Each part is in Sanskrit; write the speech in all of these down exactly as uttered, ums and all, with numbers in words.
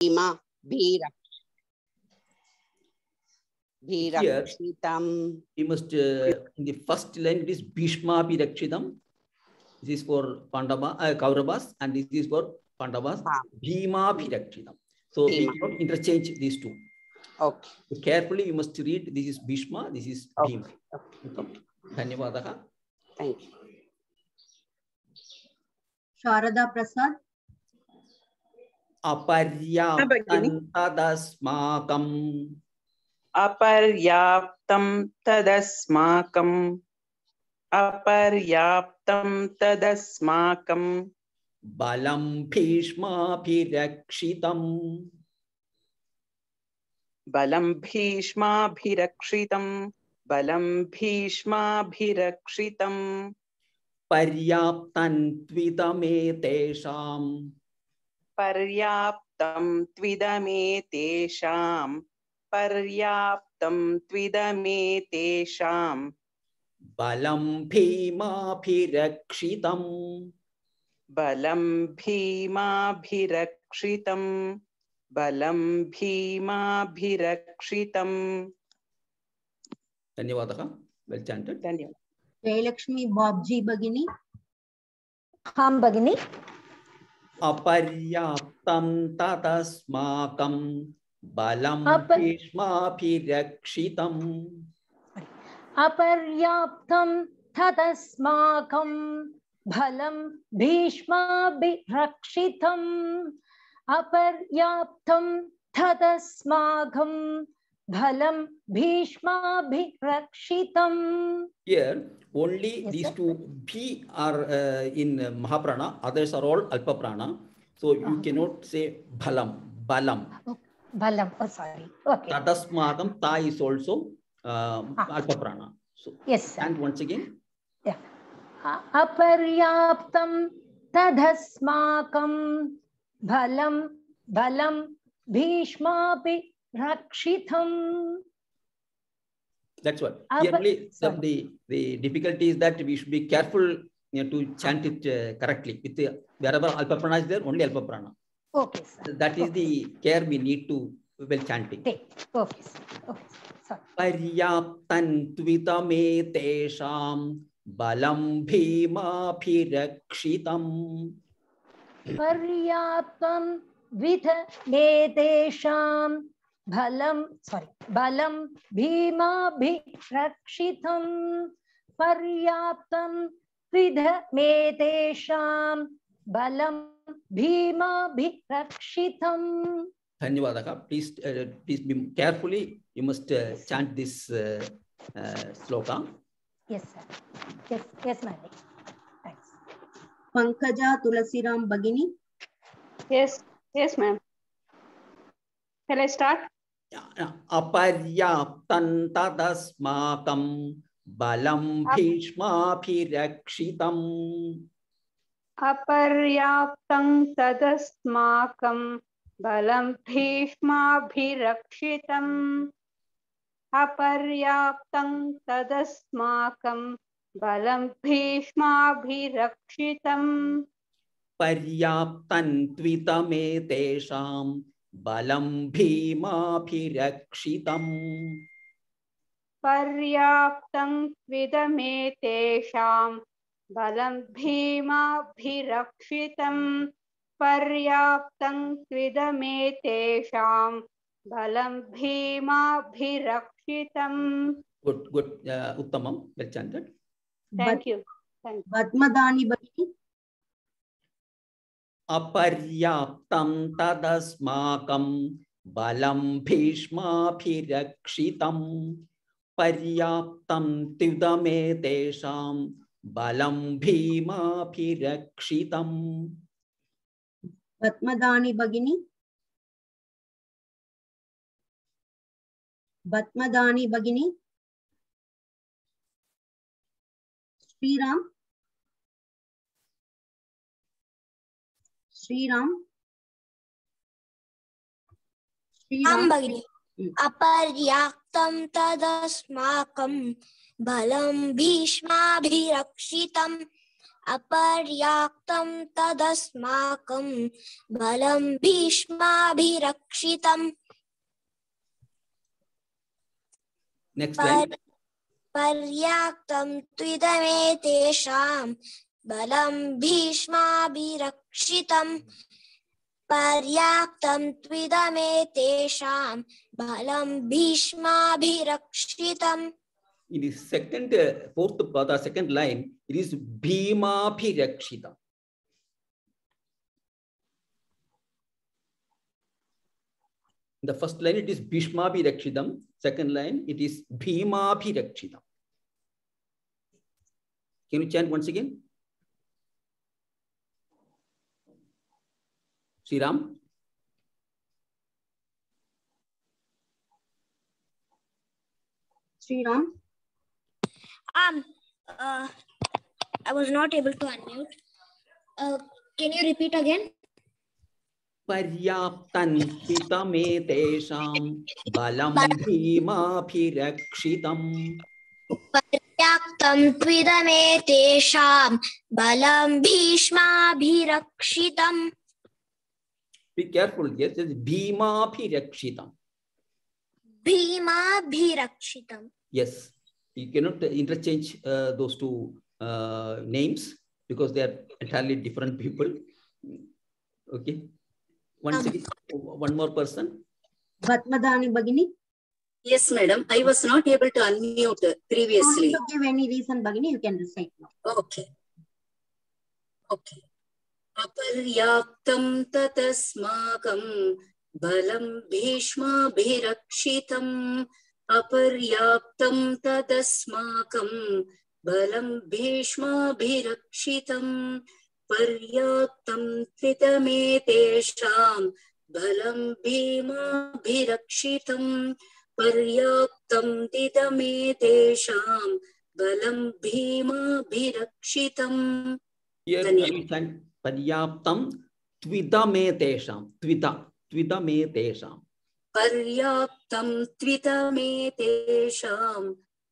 भीमा भीरक्षितम्. We must uh, in the first line it is Bhishma Bhirakshitam. This is for Pandava, uh, Kauravas, and this is for Pandavas. Ah. Bhima Bhirakshitam. So Bhima. We cannot interchange these two. Okay. So carefully you must read. This is Bhishma. This is okay. Bhima. Okay. Okay. Dhanyavadaha. Thank you. Sharada Prasad. Aparyaptam tadasmakam. Aparyaptam tadasmakam. Aparyaptam tadasmakam. Balam Bhishma Bhirakshitam. Balam Bhishma Bhirakshitam. Balam Bhishma Bhirakshitam. Paryaptam Tvitame Tesham. Paryaptam Tvitame Tesham. Paryaptam Tvitame Tesham. Balam Bhima Bhirakshitam. Balam Bhima Bhirakshitam. Balam Bhima Bhirakshitam. Dhanyavadaha. Well chanted. Dhanyavadaha. Jayalakshmi Bobji Bagini. Ham Bagini. Aparyaptam tadasmakam. Balam Bhishma Bhirakshitam. Aparyaptam tadasmakam. Bhalam Bhishma Bhirakshitam. Aparyaptam tadasmakam. Bhalam Bhishma Bhirakshitam. Here only yes, these sir? two Bhi are uh, in Mahaprana, others are all Alpa Prana. So you uh-huh. cannot say Bhalam, Balam. Oh, Bhalam, oh sorry. Okay. Tadasmakam, Ta is also uh, ah. Alpa Prana. So, yes, sir. And once again. Yeah. Aparyaptam tadasmakam. Bhalam, Bhalam Bhishma Bhirakshitam. That's what. Here only the, the, the difficulty is that we should be careful, you know, to chant it uh, correctly. With the, wherever Alpa Prana is there, only Alpa Prana. Okay, sir. That is okay. the care we need to while chanting. Okay, okay, sir. Okay, sir. Paryaptam tvitame tesham. Balam Bhima Bhirakshitam. Paryaptam vitame tesham. Bhalam, sorry, Balam Bhima Bhirakshitam. Paryaptam vidhame tesham. Balam Bhima Bhirakshitam. Dhanyavadaha. Please, uh, please be carefully. You must uh, chant this uh, uh, sloka. Yes, sir. Yes, yes, ma'am. Thanks. Pankaja Tulasiram Bagini. Yes, yes, ma'am. Shall I start? Aparyaptam tadasmakam. Balam Bhishma Bhirakshitam. Aparyaptam tadasmakam. Balam Bhishma Bhirakshitam. Aparyaptam tadasmakam. Balam Bhishma Bhirakshitam. Paryaptam tvitame tesham. Balam Bhima Bhirakshitam. Paryaptam tvitame tesham. Balam Bhima Bhirakshitam. Paryaptam tvitame tesham. Balam Bhima Bhirakshitam. Good, good, uh, Uttamam. Well chanted. Thank you. Thank you. Padmadani Bagini. Aparyaptam tadasmakam. Balam Bhishma Bhirakshitam. Paryaptam tvitame tesham. Balam Bhima Bhirakshitam. Padmadani Bagini. Batmadani Bagini. Sriram. Sriram. Sriram Bagini. Aparyaptam tadasmakam. Balam Bhishma Bhirakshitam. अपर्याप्तं तदस्माकं बलं भीष्माभिरक्षितम् Next line. पर्याप्तं त्विदमेतेषां बलं भीष्माभिरक्षितम् पर्याप्तं त्विदमेतेषां बलं भीष्माभिरक्षितम्. In the second, uh, fourth pada, second line, it is Bhima Bhirakshita. In the first line, it is Bhishma Bhirakshitam. Second line, it is Bhima Bhirakshitam. Can you chant once again? Sri Ram. Sri Ram. Um, uh, I was not able to unmute. Uh, can you repeat again? Paryaptan pitamedesham balam bhima bhirakshitam. Paryaptam tvidamedesham balam bhishma bhirakshitam. Be careful, yes, it's bhima bhirakshitam. Bhima bhirakshitam. Yes, you cannot interchange uh, those two uh, names because they are entirely different people. Okay. Once again, one more person. Vatmadani Bhagini. Yes, madam. I was not able to unmute previously. Don't give any reason, Bhagini. You can recite now. Okay. Okay. Aparyaptam tatasmakam balam bhishma bhirakshitam. Aparyaptam tatasmakam balam bhishma bhirakshitam. Paryaptam tvitametesham balam bhima bhirakshitam. Paryaptam tvitametesham balam bhima bhirakshitam. Here we can paryaptam tvidametesham. Tvida. Tvidametesham. Paryaptam tvitametesham.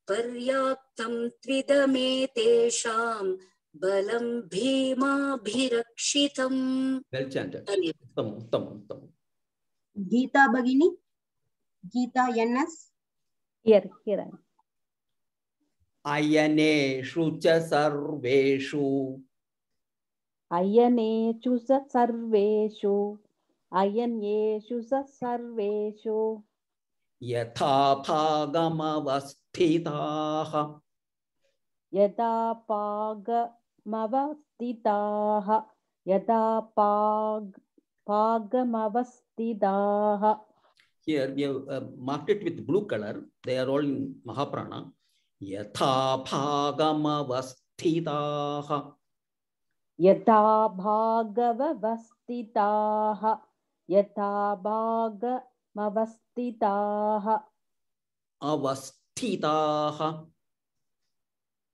Paryaptam tvidametesham. Balam bhima bhirakshitam. Well chanted. Uttamam, uttamam, uttamam. Geeta Bhagini. Geeta N S. Here, here I am. Ayaneshu cha sarveshu. Ayaneshu sa sarveshu. Ayaneshu sa sarveshu. Yatha bhagamavasthitaha. Yada pagamavastitaha. Yada pag pagamavastitaha. Here we have uh, marked it with blue color. They are all in Mahaprana. Yatha bhagamavasthitaha. Yatha bhagavavastitaha. Yatha bhagamavastitaha. Avasthitaha.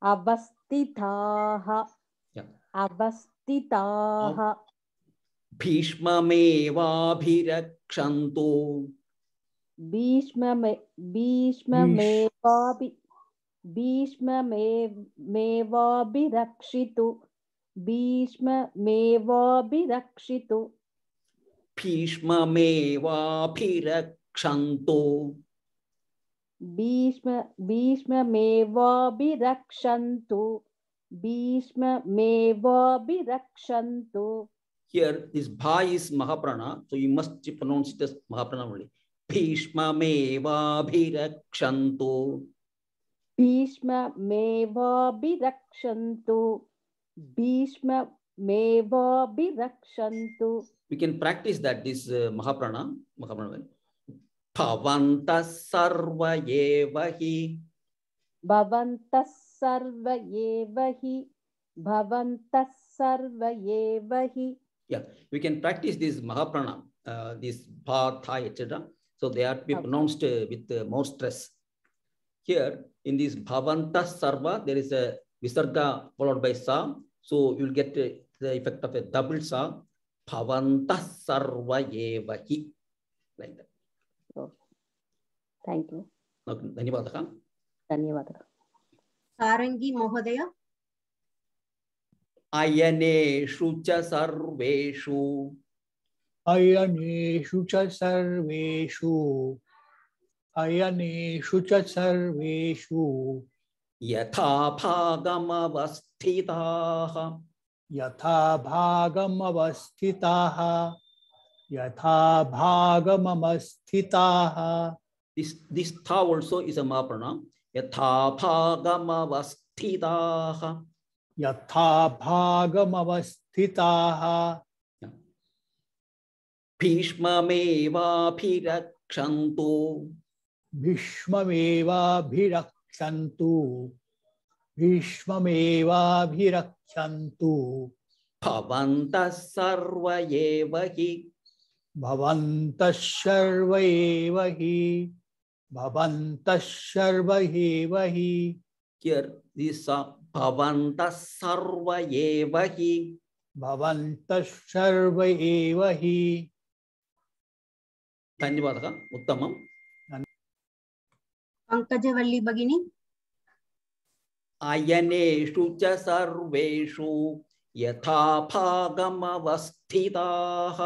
Avastitaha. Yeah. Avastitaha. Bhishma meva bhirakshantu. Bhishma me Bhishma mevabi Bhishma mevabi rakshitu. Bhishma mevabi rakshitu. Bhishma meva bhirakshantu. Bhishma Bhishma mevabi rakshantu. Bhishma mevabi rakshantu. Here this bha is Mahaprana, so you must pronounce it as Mahaprana only. Bhishma meva bhirakshantu. Bhishma mevabi rakshantu. Bhishma mevabi rakshantu. We can practice that, this uh, Mahaprana. Mahaprana. Bhavantas sarva yevahi. Bhavantas sarva yevahi. Bhavantas sarva yevahi. Yeah, we can practice this Mahaprana, uh, this bha, tha, et cetera. So they are to be Okay. pronounced uh, with uh, more stress. Here in this Bhavantas sarva, there is a visarga followed by sa. So you will get uh, the effect of a double sa. Bhavantas sarva yevahi. Like that. Okay. Thank you. Okay. Dhanyavadaha. Dhanyavadaha. Sarangi Mohodaya. अयनेषु च सर्वेषु अयनेषु च सर्वेषु अयनेषु च सर्वेषु यथा भागमवस्थिताः यथा भागमवस्थिताः यथा भागमवस्थिताः. This this tha also is a ma pranam. Yatha bhagamavasthitaha. यथा भागमवस्थिताः. भीष्ममेवाभिरक्षन्तु भीष्ममेवाभिरक्षन्तु भीष्ममेवाभिरक्षन्तु भवन्तः सर्व एव हि भवन्तः सर्व एव हि भवन्तः सर्व एव हि. Here this भवन्तः सर्व एव हि भवन्तः सर्व एव हि. धन्यवादः. उत्तमम्. पंकजवल्ली भगिनी. अयनेषु च सर्वेषु यथा भागमवस्थिताः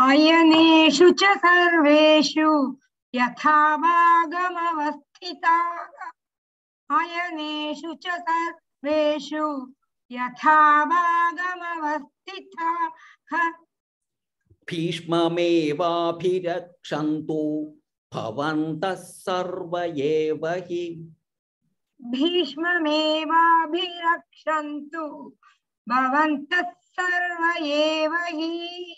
अयनेषु च सर्वेषु यथा भागमवस्थिताः अयनेषु च सर्वेषु यथा भागमवस्थिताः. भीष्ममेवाभिरक्षन्तु भवन्तः सर्व एव हि भीष्ममेवाभिरक्षन्तु भवन्तः सर्व एव हि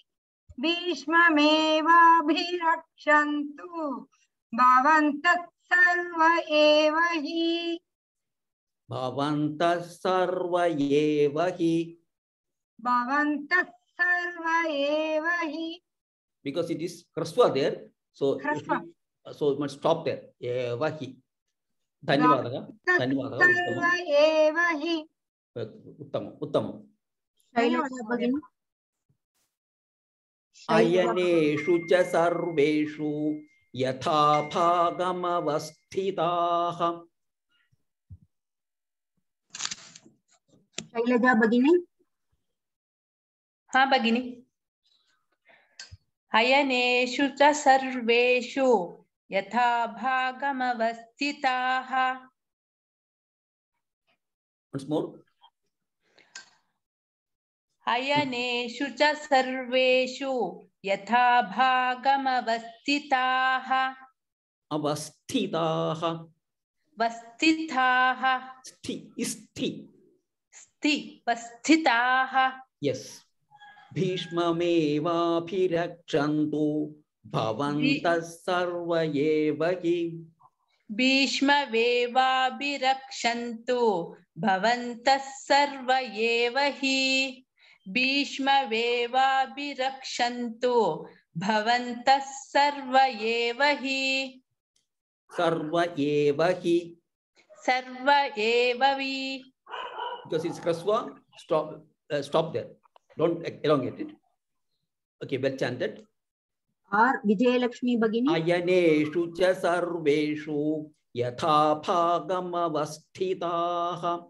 भीष्ममेवाभिरक्षन्तु भवन्तः सर्व एव हि भवन्तः सर्व एव हि भवन्तः सर्व एव हि. because it is hraswa there, so hraswa. so it must stop there. Eva hi. धन्यवादः. धन्यवादः. सर्व एव हि. उत्तमम् उत्तमम्. शैलजा भगिनी. अयनेषु च सर्वेषु यथा भागमवस्थिताः. शैलजा भगिनी. हाँ भगिनी. अयनेषु च सर्वेषु यथा भागमवस्थिताः. Once more. अयनेषु च सर्वेषु यथा भागमवस्थिताः. अवस्थिताः. वस्थिताः. स्थि स्थि. स्थि वस्थिताः. Yes. भीष्ममेवाभिरक्षन्तु भवन्तः सर्व एव हि भीष्ममेवाभिरक्षन्तु भवन्तः सर्व एव हि भीष्ममेवाभिरक्षन्तु भवन्तः सर्व एव हि सर्व एव हि सर्व एव हि. Because it's hraswa, stop uh, stop there. Don't elongate it. Okay, well chanted. R Vijayalakshmi Bhagini. Ayaneshu cha sarveshu yatha bhagamavasthitaah.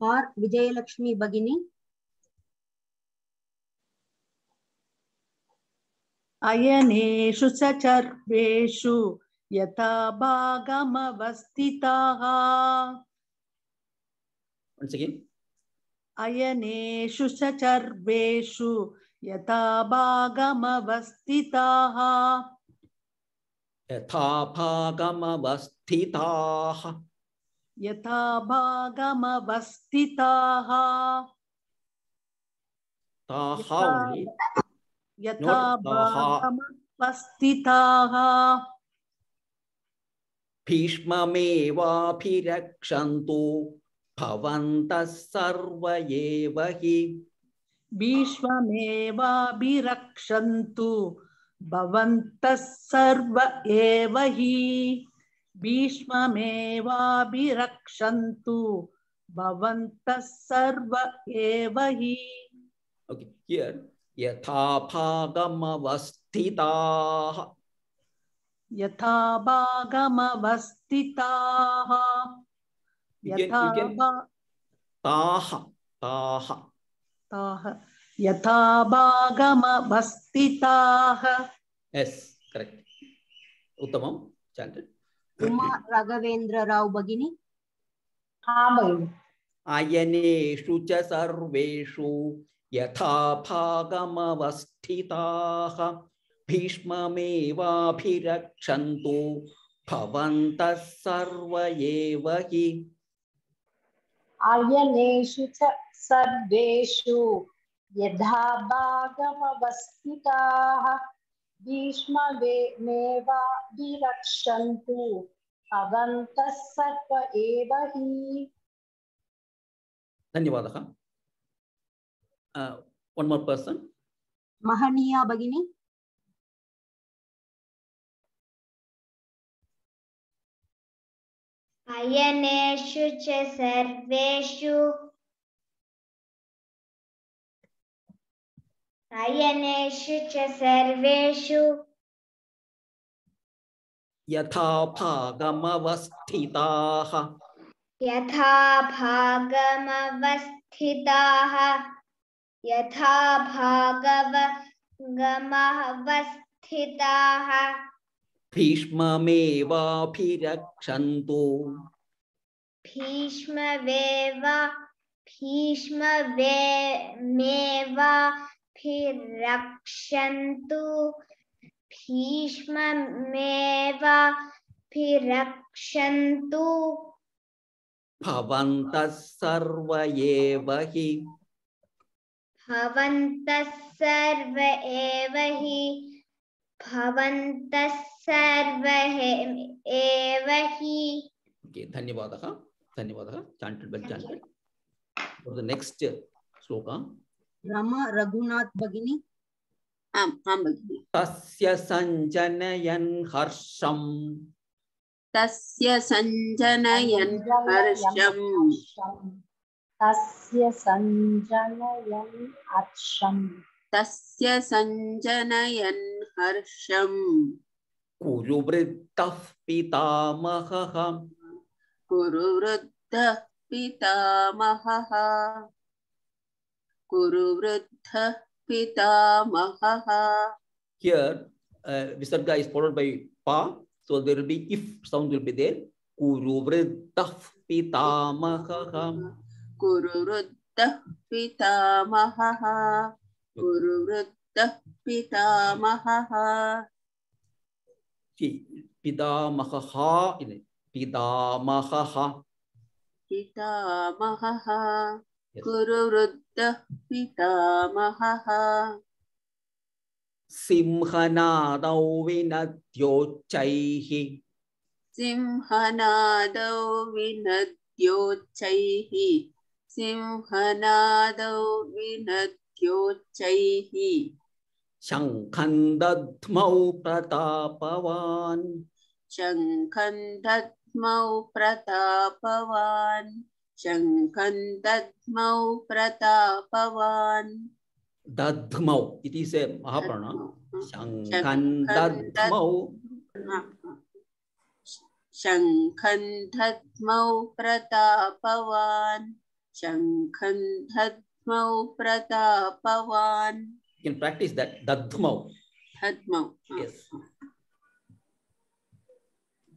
R Vijayalakshmi Bhagini. अयनेषु च सर्वेषु यथा भागमवस्थिताः. Once again. अयनेषु च सर्वेषु यथा भागमवस्थिताः. यथा भागमवस्थिताः. यथा भागमवस्थिताः. ताः only. यथा भागमवस्थिताः. भीष्ममेवाभिरक्षन्तु भवन्तः सर्व एव हि भीष्ममेवाभिरक्षन्तु भवन्तः सर्व एव हि भीष्ममेवाभिरक्षन्तु भवन्तः सर्व एव हि. Okay, here यथा भागमवस्थिताः. यथा भागमवस्थिताः. You can, you can ताः ताः ताः यथा भागमवस्थिताः. yes correct उत्तमं chanted. उमा राघवेंद्र राव भगिनी. हाँ भगिनी. अयनेषु च सर्वेषु यथा भागमवस्थिताः भीष्ममेवाभिरक्षन्तु भवन्तः सर्व एव हि. आयनेषु च सर्वेषु यथा भागमवस्थिताः भीष्ममेवाभिरक्षन्तु भवन्तः सर्व एव हि. धन्यवादः. One more person. महनीया भगिनी. अयनेषु च सर्वेषु अयनेषु च सर्वेषु यथा भागमवस्थिताः यथा भागमवस्थिताः यथा भागमवस्थिताः भीष्ममेवाभिरक्षन्तु भीष्ममेव भीष्ममेवाभिरक्षन्तु भीष्ममेवाभिरक्षन्तु भवन्तः सर्व एव हि भवन्तः सर्व एव हि भवन्तः सर्व एव हि. Okay, धन्यवादः धन्यवादः chanted well chanted. For the next श्लोका. रमा रघुनाथ भगिनी. आम् आं भगिनि. तस्य सञ्जनयन् हर्षम् तस्य सञ्जनयन् हर्षम् तस्य सञ्जनयन् हर्षम् तस्य सञ्जनयन् हर्षम् कुरु वृद्धः पितामहः कुरु वृद्धः पितामहः कुरु वृद्धः पितामहः. Here uh, visarga is followed by pa, so there will be if sound will be there. Kuru vriddah pitamahah कुरु वृद्धः पितामहः कुरु वृद्धः पितामहः. पितामहः ini pitamahah पितामहः कुरु वृद्धः पितामहः. सिंहनादौ विनद्योच्चैः सिंहनादौ विनद्योच्चैः सिंहनादौ विनद्योच्चैः शङ्खं दद्मौ प्रतापवान् शङ्खं दद्मौ प्रतापवान् शङ्खं दद्मौ प्रतापवान्. दद्मौ it is a mahaprana. शङ्खं दद्मौ शङ्खं दद्मौ प्रतापवान् शङ्खं दद्मौ प्रतापवान्. You can practice that. Dadmau. Dadmau. Yes.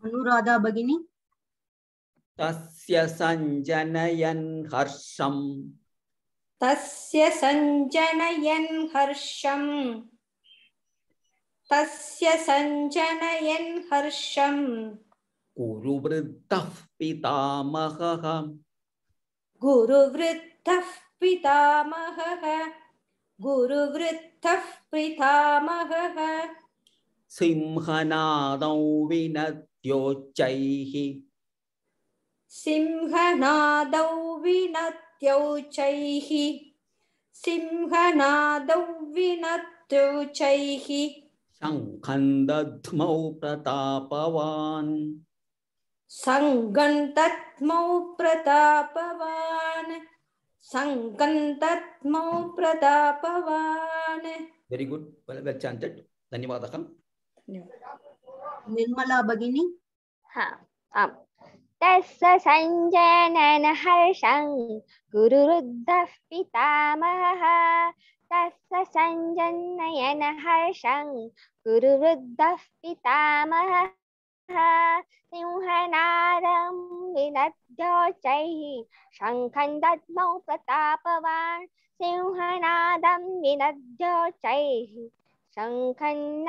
Anuradha भगिनी. तस्य सञ्जनयन् हर्षम् तस्य सञ्जनयन् हर्षम् तस्य सञ्जनयन् हर्षम् कुरु वृद्धः पितामहः गुरुवृद्धः पितामहः गुरुवृद्धः पितामहः. सिंहनादौ विनद्योच्चैः सिंहनादौ विनद्योच्चैः सिंहनादौ विनद्योच्चैः शङ्खं दद्मौ प्रतापवान् शङ्खं दद्मौ प्रतापवान् शङ्खं दद्मौ प्रतापवान्. Very good. Well, well chanted. धन्यवादः. निर्मला भगिनी. हाँ आम् तस्य सञ्जनन हर्षं कुरुवृद्धः पितामहः तस्य सञ्जनयन हर्षं कुरुवृद्धः पितामहः सिंहनादं विनद्योच्चैः शङ्खं दद्मौ प्रतापवान् सिंहनादं विनद्योच्चैः शङ्खं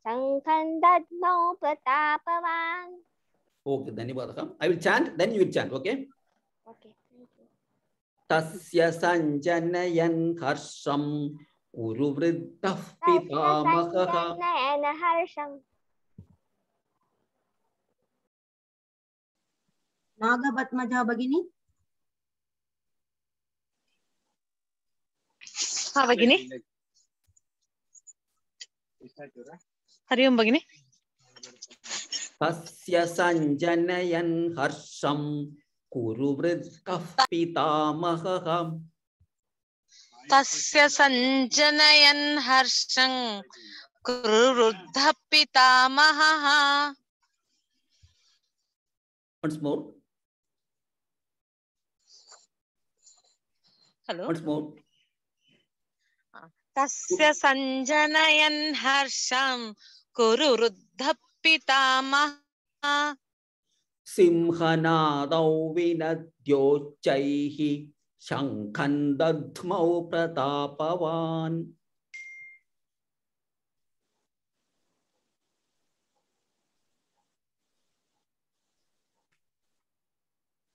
शङ्खं दद्मौ प्रतापवान्. Okay, धन्यवादः. I will chant, then you will chant, okay? Okay, thank you. तस्य सञ्जनयन् हर्षं कुरुवृद्धः पितामहः सञ्जनयन हर्षं. नागपद्मजा भगिनी. हाँ भगिनी. हरि ओम भगिनी. तस्य सञ्जनयन् हर्षं कुरुवृद्धः पितामहः तस्य सञ्जनयन् हर्षं कुरुवृद्धः पितामहः. Once more. Hello. Once more. तस्य सञ्जनयन् हर्षं कुरुवृद्धः पितामहः सिंहनादौ विनद्योच्चैः शङ्खं दद्मौ प्रतापवान्.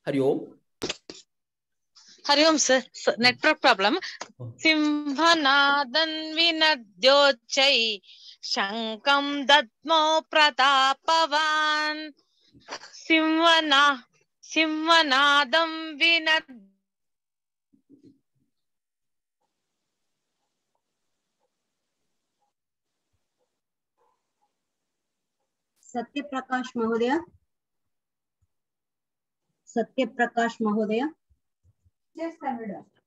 हरि ओम. हरि ओम सर, नेटवर्क प्रॉब्लम. सिंहनादं विनद्योच्चैः शङ्खं दद्मौ प्रतापवान् सिंहना सिंहनादं विनद् सत्यप्रकाश महोदय. सत्यप्रकाश महोदय.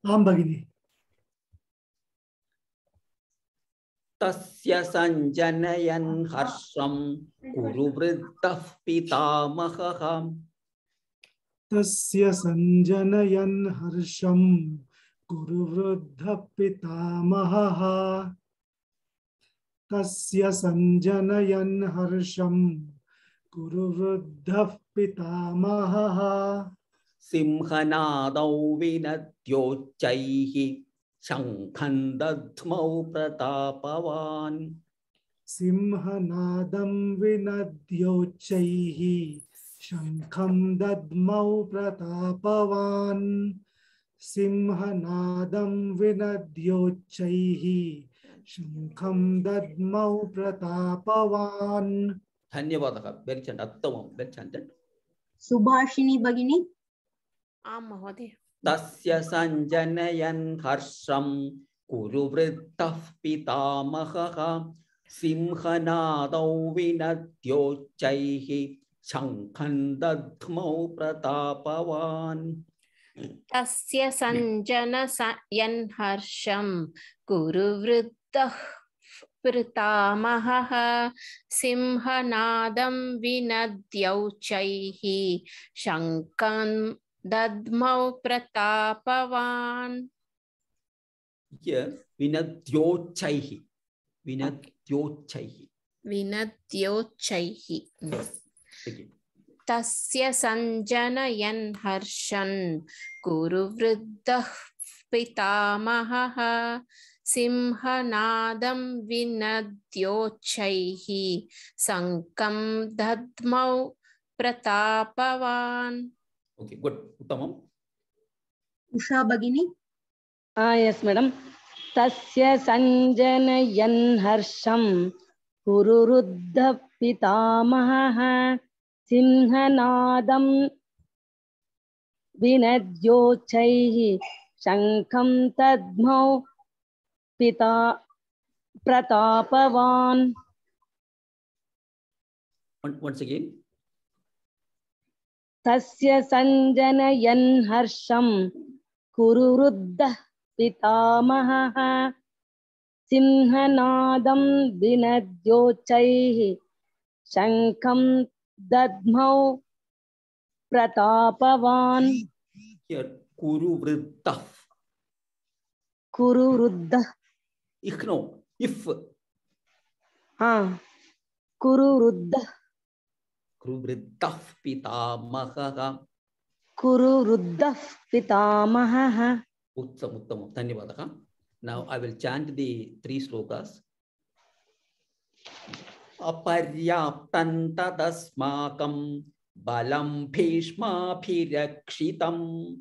आं भगिनी. तस्य सञ्जनयन् हर्षं कुरुवृद्धः पितामहः तस्य सञ्जनयन् हर्षं कुरुवृद्धः पितामहः तस्य सञ्जनयन् हर्षं कुरुवृद्धः पितामहः सिंहनादौ विनद्योच्चैः शङ्खं दद्मौ प्रतापवान्. सिंहनादं विनद्योच्चैः शङ्खं दद्मौ प्रतापवान् सिंहनादं विनद्योच्चैः शङ्खं दद्मौ प्रतापवान्. धन्यवादः. वेरी चण्ड उत्तमं. वेरी चण्ड. सुभाषिनी भगिनी. आं महोदय. तस्य सञ्जनयन् हर्षं कुरुवृद्धः पितामहः सिंहनादौ विनद्योच्चैः शङ्खं दद्मौ प्रतापवान्. तस्य सञ्जनयन् हर्षं कुरुवृद्धः पितामहः सिंहनादं विनद्योच्चैः शङ्खं दद्मौ प्रतापवान्. Yes, विनद्योच्चैः. विनद्योच्चैः. विनद्योच्चैः. तस्य सञ्जनयन् हर्षं कुरुवृद्धः पितामहः सिंहनादं विनद्योच्चैः शङ्खं दद्मौ प्रतापवान्. Okay, good. उत्तमम्. उषा भगिनी. Ah, yes, madam. तस्य सञ्जनयन् हर्षं कुरुवृद्धः पितामहः सिंहनादं विनद्योच्चैः शङ्खं दद्मौ पिता प्रतापवान्. Once again. तस्य सञ्जनयन् हर्षं कुरुवृद्धः पितामहः सिंहनादं विनद्योच्चैः शङ्खं दद्मौ प्रतापवान् Here, Kuru Vriddha. कुरु वृद्धः Ich no, if. हाँ कुरु वृद्धः Kuru Vriddha Pitamaha. कुरु वृद्धः पितामहः. Uttam, uttam. Dhanyavadaha. Now I will chant the three slokas. Aparyaptan tadasmakam balam bhishmabhirakshitam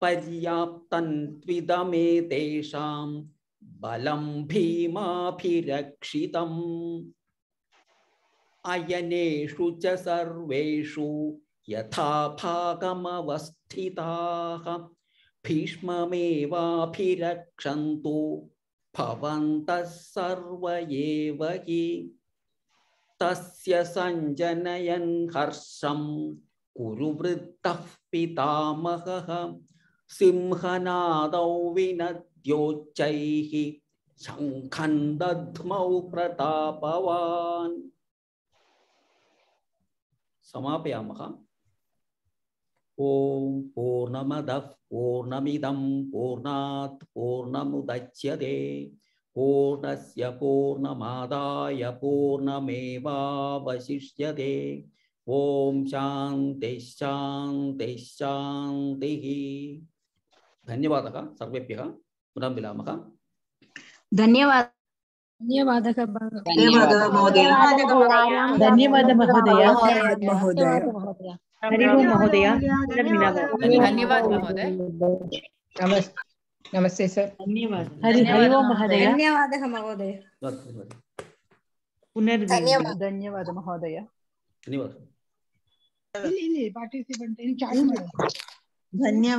paryaptan tvidame tesham balam bhimabhirakshitam ayaneshu cha sarveshu yatha bhagamavasthitaha Bhishmamevabhirakshantu bhavantas sarva eva hi tasya sanjanayan harsham kuru vriddhah pitamaha simhanadau vinadyochaihi shankhan dadmau pratapavan. Samapayamaha. Om Purnamadah Purnamidam Purnat Purnamudachyate Purnasya Purnamadaya Purnameva Vasishyate Om Shanti Shanti Shanti. Dhanyavadaha Sarvebhyah. Purnam Vilamaha. धन्यवाद धन्यवादः धन्यवादः महोदय. धन्यवादः महोदय महोदय. हरि ओम महोदय धन्यवाद महोदय. नमस्ते सर. धन्यवाद. हरि हरि ओम महोदय. धन्यवादः महोदय. पुनर्मिलामः. धन्यवाद महोदय. धन्यवाद. Participant in chat. धन्यवाद.